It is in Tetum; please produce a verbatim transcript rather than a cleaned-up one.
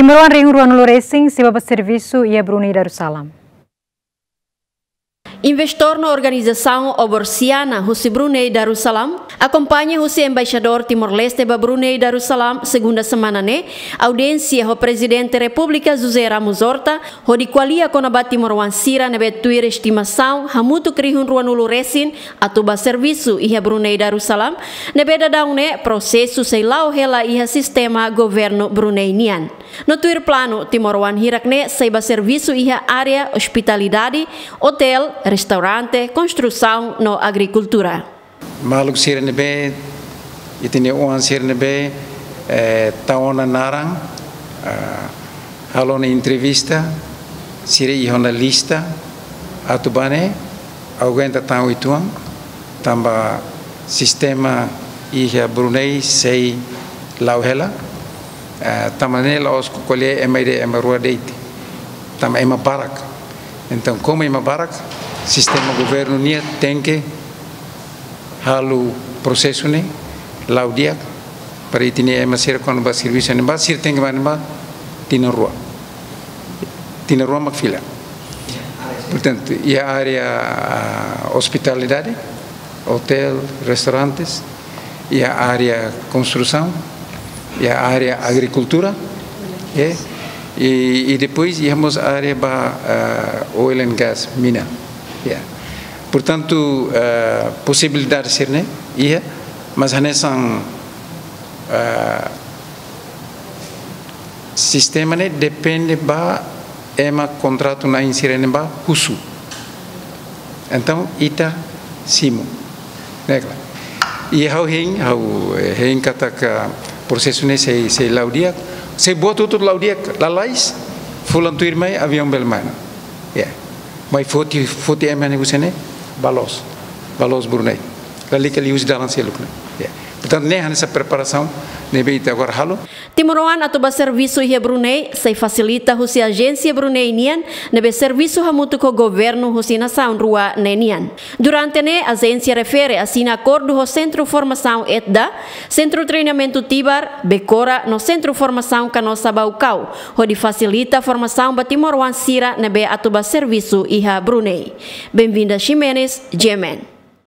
Timoroan rihun ruanulu resin sei bá servisu iha Brunei Darussalam. Investór no organizasaun Oborsiana husi Brunei Darussalam akompaña husi Embaixadór Timor-Leste ba Brunei Darussalam, segunda semana ne'e, audiénsia ho Prezidente Repúblika José Ramos Horta, hodi ko'alia kona-ba timoroan sira ne'ebé tuir estimasaun hamutuk rihun ruanulu resin atu bá servisu iha Brunei Darussalam, ne'ebé daudaun ne'e prosesu sei la'o hela iha sistema governu Brunei nian. No tuir planu, timoroan hirak ne'e sei bá servisu iha área ospitalidade, otél, restaurante, konstrusaun no agrikultura. Maluk sira ne'ebé, ita-nia oan sira ne'ebé, eh, tau ona naran, ah, halo ona entrevista, sira iha ona lista, atu bá ne'e, aguenta tan uitoan, tanba sistema iha Brunei sei la'o hela, eh, tanba ne'e la'ós ko'alia ema ida, ema rua de'it, tanba ema barak. Entaun, komu ema barak, sistema governu nian tenke halo prosesu ne'e la'o di'ak, para ita-nia ema sira kuandu bá servisu iha ne'ebá, sira tenke bá iha ne'ebá tinan rua. Tinan rua mak fila. Portantu, iha área, ah, ospitalidade, otél, restaurantes, iha área konstrusaun, iha área agrikultura, eh, i, i depois iha mós área ba, ah, oil and gas, mina. Ya. Portantu, ah, posibilidade sira-ne'e iha, mas hanesan, ah, sistema ne'e depende ba ema kontratu-na'in sira-ne'ebá husu. Entaun, ita simu. Ne'e klaru. I ha'u hein, ha'u, eh, hein katak prosesu ne'e sei, sei la'o di'ak, sei buat hotu-hotu la'o di'ak, lalais, fulan tuirmai, aviaun bele mai ona. Ya. Mai foti, foti ema ne'e husi ne'e, bá loos. Bá loos Brunei. Lalika liuhusi dalan seluk ne'e. Ya. Portantu, ne'e hanesan preparasaun ne'ebé ita agora halo. Timoroan atu bá servisu iha Brunei, sei fasilita husi ajénsia Brunei nian, ne'ebé servisu hamutuk ho governu husi nasaun rua ne'e nian. Durante ne'e, ajénsia refere asina akordu ho Sentru Formasaun ETDA, Sentru Treinamentu Tibar, Becora, no Sentru Formasaun Canossa Baucau, hodi fasilita formasaun ba timoroan sira ne'ebé atu bá servisu iha Brunei. Benvinda Ximenes, G M N.